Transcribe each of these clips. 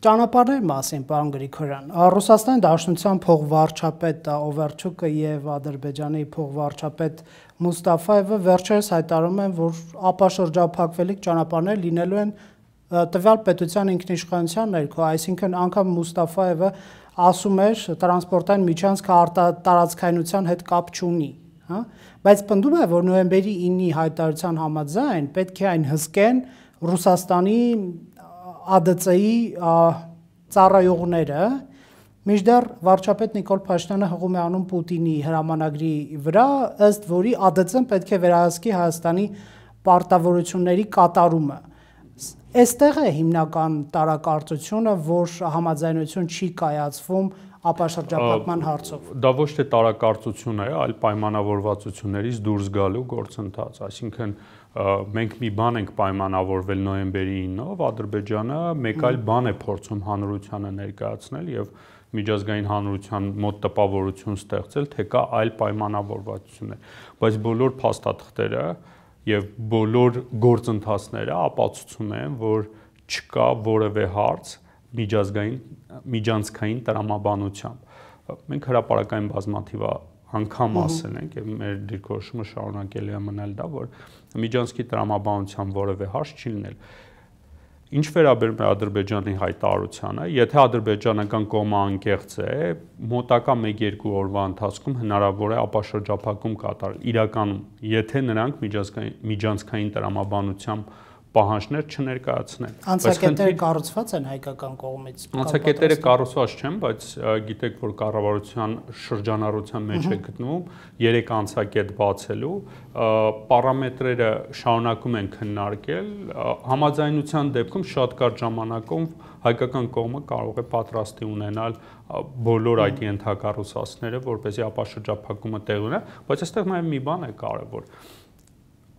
Ճանապարհների մասին, պարոն Գրիգորյան, Ռուսաստանի Դաշնության փոխվարչապետ Օվերչուկը եւ Ադրբեջանի փոխվարչապետ Մուստաֆայևը վերջերս հայտարարում են, որ ապաշրջափակվելիք ճանապարհներ լինելու են տվյալ պետության ինքնիշխանության ներքո, այսինքն անգամ Մուստաֆայևը ասում էր տրանսպորտային միջանցքը արտատարածքայնության հետ կապ չունի, հա, բայց պնդում է, որ նոյեմբերի 9-ի հայտարարության համաձայն պետք է այն հսկեն Ռուսաստանի ԱԴՑ-ի ծառայողները, մինչդեռ վարչապետ Նիկոլ Փաշինյանը հղում է անում Պուտինի հրամանագրի վրա, ըստ որի ԱԴՑ-ն պետք է վերահսկի Հայաստանի պարտավորությունների կատարումը։ Այստեղ է հիմնական տարակարծությունը, որ համաձայնություն չի կայացվում ապաշրջափակման հարցով։ Դա ոչ թե տարակարծություն է, այլ պայմանավորվածություններից դուրս գալու գործընթաց, այսինքն մենք մի բան ենք պայմանավորվել նոյեմբերի 9-ով, Ադրբեջանը մեկ այլ բան է փորձում հանրությանը ներկայացնել եւ միջազգային հանրության մոտ տպավորություն ստեղծել, թե կա այլ պայմանավորվածություններ, բայց բոլոր փաստաթղթերը եւ բոլոր գործընթացները ապացուցում են, որ չկա որևէ հարց միջանցքային տրամաբանությամբ։ Մենք հրապարակային բազմաթիվ անգամ ասել ենք եւ մեր դիրքորոշումը շարունակելի է մնալ դա, որ միջանցքի տրամաբանությամբ որևէ հարց չի լինել։ Ինչ վերաբերում է Ադրբեջանի հայտարարությանը, եթե ադրբեջանական կողմը անկեղծ է, մոտակա 1-2 օրվա ընթացքում հնարավոր է ապաշրջափակում կատարել։ Իրականում, եթե նրանք միջանցքային տրամաբանությամբ պահանջներ չներկայացնեն։ Անցակետերը կառուցված են հայկական կողմից։ Անցակետերը կառուցված չեն, բայց գիտեք, որ կառավարության շրջանառության մեջ է գտնվում 3 անցակետ բացելու, պարամետրերը շարունակում են քննարկել, համաձայնության դեպքում շատ կարճ ժամանակում հայկական կողմը կարող է պատրաստի ունենալ բոլոր այդ ենթակառուցվածքները, որպեսզի ապաշրջափակումը տեղի ունենա, բայց այստեղ նաև մի բան է կարևոր։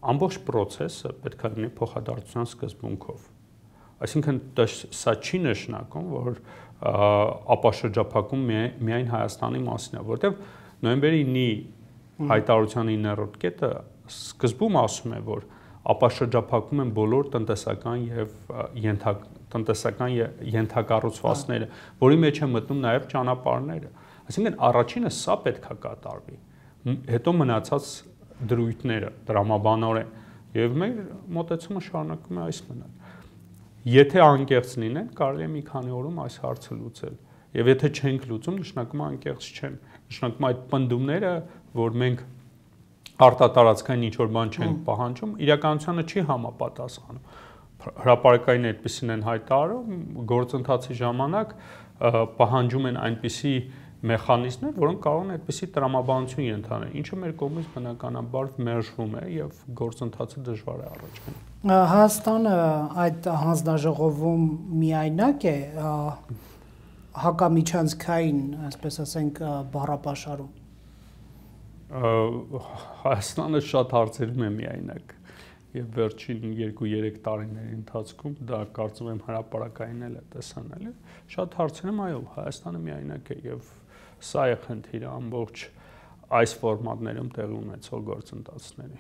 Ամբողջ process-ը պետք է լինի փոխադարձության սկզբունքով։ Այսինքն սա չի նշանակում, որ ապաշրջափակում միայն Հայաստանի մասին է, որտեղ նոյեմբերի 9-ի հայտարարության 9-րդ կետը սկզբում ասում է, որ ապաշրջափակում են բոլոր տնտեսական եւ ենթակառուցվածքները, որի մեջ է մտնում նաև ճանապարհները։ Այսինքն առաջինը սա պետք է կատարվի։ Հետո մնացած դրույթները տրամաբանորեն եւ մեր մոտեցումը շարունակում է այս մնալ։ Եթե անկեղծ լինեն, կարելի է մի քանի օրում այս հարցը լուծել։ Եվ եթե չենք լուծում, նշանակում է անկեղծ չեն։ Նշանակում է այդ պնդումները, որ մենք արտատարածքային ինչ-որ բան չենք պահանջում, իրականությանը չի համապատասխանում։ Հրապարակային այդպեսին են հայտարարում, գործընթացի ժամանակ պահանջում են այնպիսի մեխանիզմներ, որոնք կարող են այդպիսի տրամաբանություն ենթանել, ինչը մեր կողմից բնականաբար մերժվում է եւ գործընթացը դժվար է առաջ գնում։ Հայաստանը այդ հանձնաժողովում միայնակ է հակամիջանցքային, այսպես ասենք, բառապաշարում։ Հայաստանը շատ հարցերում է միայնակ եւ վերջին 2-3 տարիների ընթացքում դա կարծում եմ հրապարակային էլ է տեսանել։ Շատ հարցերում այո, Հայաստանը միայնակ է եւ սա է խնդիրը ամբողջ այս ֆորմատներում տեղի ունեցող գործընթացների։